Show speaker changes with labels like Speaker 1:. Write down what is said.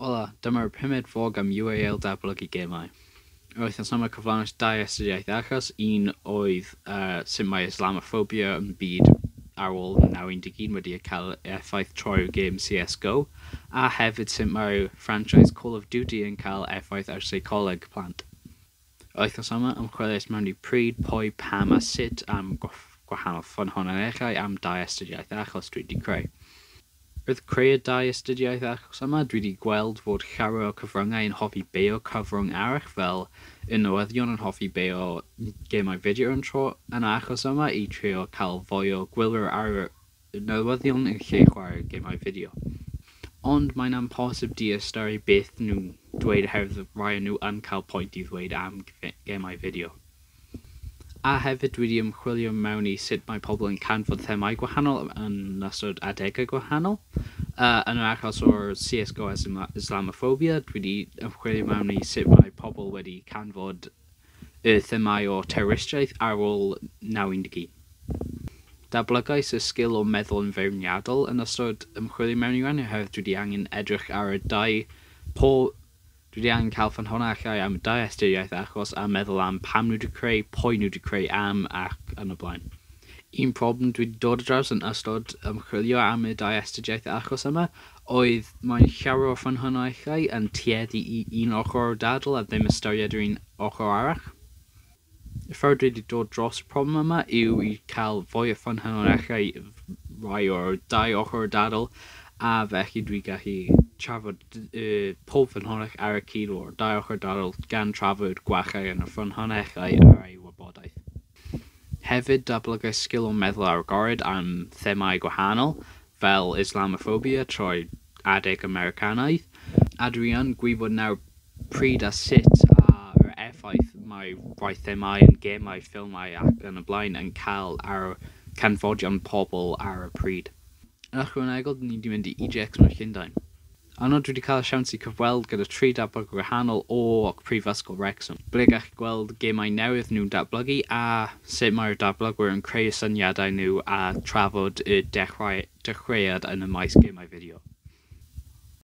Speaker 1: Hola, dyma'r pumed vlog am UAL datblygu gemau. Yr wythnos yma cyflawnais dau astudiaeth achos, un oedd sut mae Islamophobia yn byd ar ôl 911 wedi cael effaith trwy'r gêm CSGO, a hefyd sut mae franchise Call of Duty yn cael effaith ar seicoleg plant. Yr wythnos yma ymchwiliais mewn i pryd, pwy, pam a sut am gwahanol ffynhonnellau am dau astudiaeth achos dwi wedi creu. Wrth creu y dau astudiaeth achos yma, dwi wedi gweld fod llawer o cyfryngau yn hoffi beio cyfrwng arall, fel y newyddion yn hoffi beio gemau fideo yn tro yn y achos yma i trio cael fwy o gwylwyr ar y newyddion yn lle chwarae gemau fideo. Ond mae'n amhosib diystyru beth nhw'n dweud oherwydd rai o nhw yn cael pwynt i ddweud am gemau fideo. A hefyd dwi wedi ymchwilio mewn i sut mae pobl yn canfod themâu gwahanol yn ystod adegau gwahanol. Yn yr achos o'r CSGO a Islamophobia, dwi wedi ymchwilio mewn i sut mae pobl wedi canfod y themâu o terroristiaeth ar ôl 911. Datblygais y sgil o meddwl yn feirniadol yn ystod ymchwilio mewn i ran, oherwydd dwi wedi angen edrych ar y dau po Dwi wedi angen cael ffynhonnellau am y dau astudiaeth achos a meddwl am pam nhw wedi creu, pwy nhw wedi creu am ac yn y blaen. Un problem dwi wedi dod ar draws yn ystod ymchwilio am y dau astudiaeth achos yma oedd mae'n llawer o ffynhonnellau yn tueddu i un ochr o'r dadl a ddim ystyried yr un ochr arall. Y ffordd dwi wedi dod dros y problem yma yw i cael fwy o ffynhonnellau rai o'r dau ochr o'r dadl, a felly dwi gallu trafod pob ffynhonnell ar y cyd o'r dau ochr dadl gan trafod gwachau yn y ffynhonnellau ar ei wybodaeth. Hefyd datblygais sgil o meddwl agored am themâu gwahanol, fel Islamophobia trwy adeg Americanaidd, a dwi yn gwybod nawr pryd a sut a'r effaith mae rhai themâu yn gemau, ffilmau ac yn y blaen yn cael ar canfodion pobl ar y pryd. Yn ychwanegol, ni wedi mynd i EGX mewn Llundain. Yno dwi wedi cael y siawns i cyfweld gyda tri datblygwr gwahanol o Prifysgol Wrexham, ble gall gweld gemau newydd nhw'n datblygu a sut mae'r datblygwyr yn creu y syniadau nhw a trafod y dechreuad yn y maes gemau fideo.